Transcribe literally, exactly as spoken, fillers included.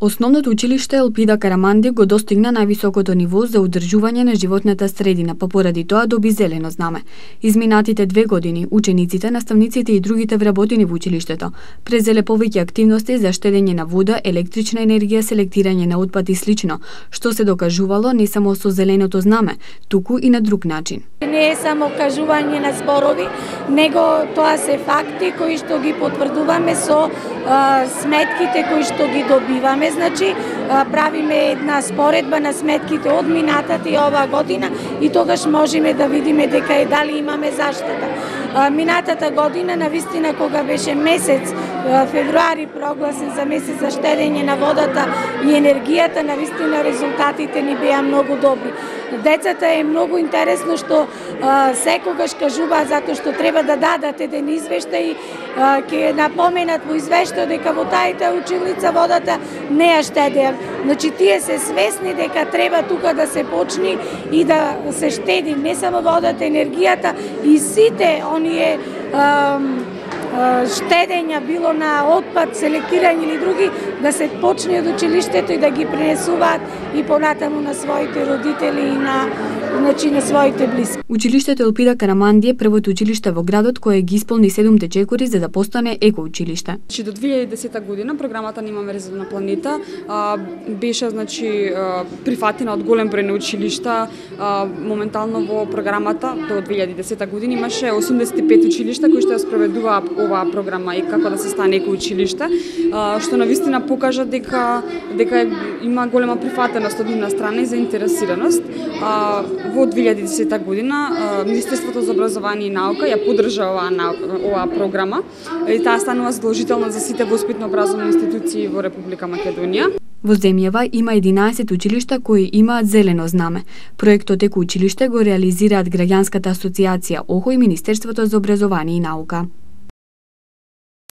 Основното училиште Елпида Караманди го достигна највисокото ниво за одржување на животната средина, па поради тоа доби зелено знаме. Изминатите две години, учениците, наставниците и другите вработени во училиштето презеле повеќе активности за штедење на вода, електрична енергија, селектирање на отпад и слично, што се докажувало не само со зеленото знаме, туку и на друг начин. Не е само кажување на зборови, него тоа се факти кои што ги потврдуваме со а, сметките кои што ги добиваме. Значи, а, правиме една споредба на сметките од минатата и оваа година и тогаш можеме да видиме дека е дали имаме заштета. А, минатата година, навистина, кога беше месец а, февруари прогласен за месец за штедење на водата и енергијата, навистина резултатите ни беа многу добри. Децата е многу интересно што а, секогаш кажуваат затоа што треба да дадат еден извештај, а, ќе напоменат во извештајот дека во тајта училница водата не ја штедеа. Значи тие се свесни дека треба тука да се почни и да се штеди не само водата, енергијата и сите оние а, штедења, било на отпад, селектирање или други, да се почне од училиштето и да ги пренесуваат и понатаму на своите родители и на, значи, на своите блиски. Училиштето Елпида Караманди е првото училиште во градот кое ги исполни седумте чекори за да постане екоучилиште. Значи до две илјади и десета година програмата Нима мрежа на планета а, беше значи а, прифатена од голем број на училишта. А, моментално во програмата до две илјади и десета година имаше осумдесет и пет училишта кои што ја спроведуваа оваа програма и како да се стане екоучилиште, што навистина покажа дека дека има голема прифатеност од нивна страна и заинтересираност. Во две илјади и десета година Министерството за образование и наука ја поддржа оваа оваа програма и таа станува задолжителна за сите воспитно-образовни институции во Република Македонија. Во земјава има единаесет училишта кои имаат зелено знаме. Проектот Екоучилиште го реализираат Граѓанската асоциација ОХО и Министерството за образование и наука.